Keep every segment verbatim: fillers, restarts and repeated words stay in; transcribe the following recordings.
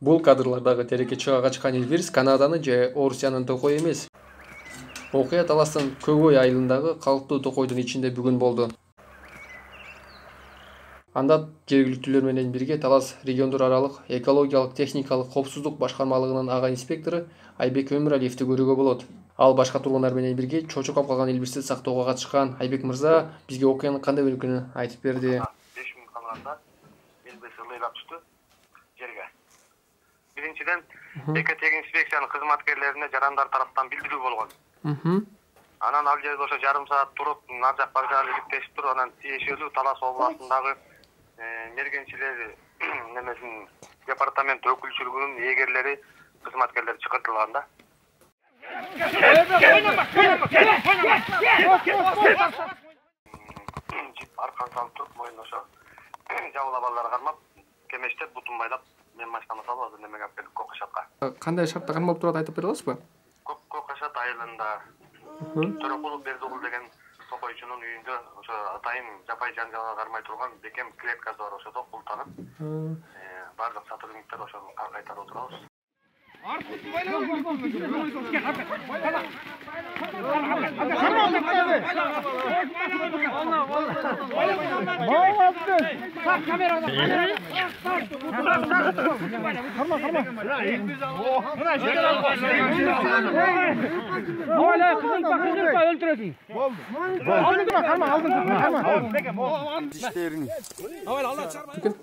Бул кадрлардагы тереке качкан Элбирис Канаданы же Орусиянын токою эмес. Окуя Таластын Көгөй айылындагы калктуу токойдун ичинде бүгүн болду. Анда жергиликтүүлөр менен бирге Талас региондор аралык экологиялык техникалык коопсуздук башкармалыгынын ага инспектору Айбек Өмүралиевди көрүүгө болот. Ал башка тургундар менен бирге чочуп калган Элбиристи сактоого катышкан. Айбек мырза бизге окуянын кандай белгилерин айтып берди. беш мүнөт калганда Элбирис ылыйлап түштү жерге. Биринчиден Экотех инспекциянын кызматкерлерине жарандар тараптан билдирүү болгон. Анан ал жерде ошо жарым саат туруп, нар жак бар жагы иликтешип туруп, анан тиешелүү Талас областындагы мергенчилер немесин департамент өкүлчүлүгүнүн эгерлери, кызматкерлери чакыртылган да. Аркан салып туруп, моюнуна ошо жабыла балдар кармап, кемештеп, бутун байлап, мен машинама салып, азыр немеге алып келдик Кокошатка. Кандай шартта кармалып турат айтып бере аласызбы? Кокошат айылында Төрөкулов Бердугул деген токойчунун үйүндө ошо атайын жапай жаңжалга кармай турган бекем клеткасы бар, ошодо култанып, бардык сотрудниктер ошону кайтарып отурабыз.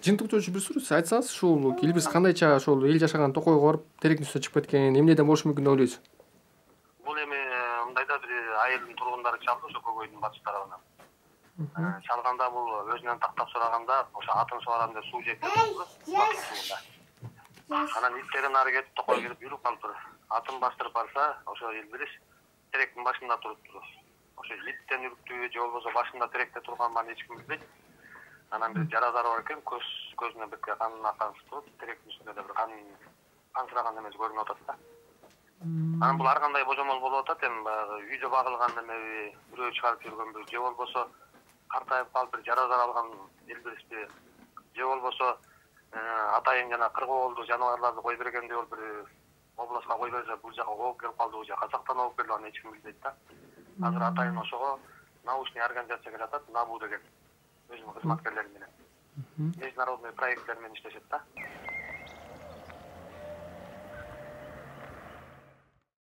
Жыйынтыктоочу бир сүрүз айтсаңыз, ушул Элбирис кандайча ошол эл жашаган токойго барып теректин үстүнө чыгып кеткен, эмнеден болушу мүмкүн деп ойлойсуз? Бул эми мындайда бир айылдын тургундары чалды ошо Көгөйдүн батыш тарабынан. Чалганда бул өзүнөн тактап сураганда ошо атын сугарам деп суу жеп кетти. Анан иттерин ары кетип токой кирип жүрүп калыптыр. Атын бастырып барса, ошо Элбирис теректин башында туруптур. Ошо иттен үрктүбү же болбосо башында теректе турганын эч ким билбейт. Анан бир жаразары бар экен, көз көзүнө бир канын акан туруп, теректин үстүндө да бир кан кансыраган немеси көрүнүп атат да. Анан бул ар кандай божомол болуп атат, эми баягы үйдө багылган немеби, бирөө чыгарып жүргөнбү, же болбосо картайып калып бир жаразар алган Элбиристи, же болбосо атайын жана кыргоолду жаныбарларды кой бергенде бол бир областка кой берсе, бул жака ооп келип калды, бул жака казактан ооп келди, аны эч ким билбейт да. Азыр атайын ошого научный организация келип атат, НАБУ деген өзүнүн кызматкерлери менен. Международный проекттер менен иштешет да.